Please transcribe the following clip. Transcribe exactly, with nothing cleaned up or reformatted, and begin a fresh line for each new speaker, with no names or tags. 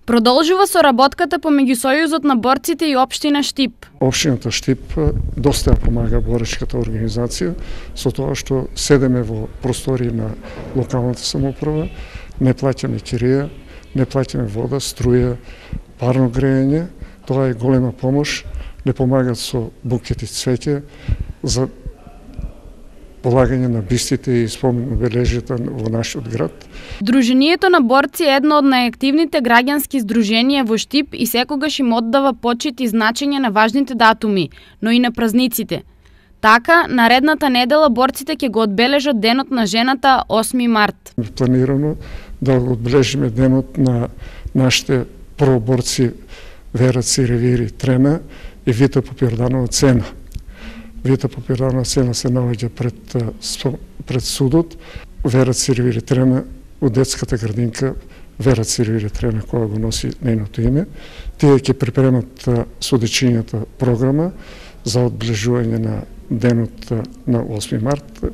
Продолжува соработката помеѓу Сојузот на борците и општина Штип.
Општината Штип доста ја помага боречката организација со тоа што седеме во простори на локалната самоуправа, не плаќаме кирија, не плаќаме вода, струја, парно грејење. Тоа е голема помош, не помагат со букети цвеќе за полагање на бистите и спомен обележјата во нашиот град.
Друженијето на борци е едно од најактивните граѓански здруженија во Штип и секогаш им оддава почит и значење на важните датуми, но и на празниците. Така, наредната недела борците ќе го одбележат денот на жената осми март.
Планирано да го одбележиме денот на нашите проборци Вера Циревири Трена и Вита Попјарданова Цена. Вита Попјарданова Цена се наоѓа пред, пред судот, Вера Циревири Трена у детската градинка Вера Циревири Трена, која го носи нејното име. Тие ќе припремат судечињата програма за одближување на денот на осми март.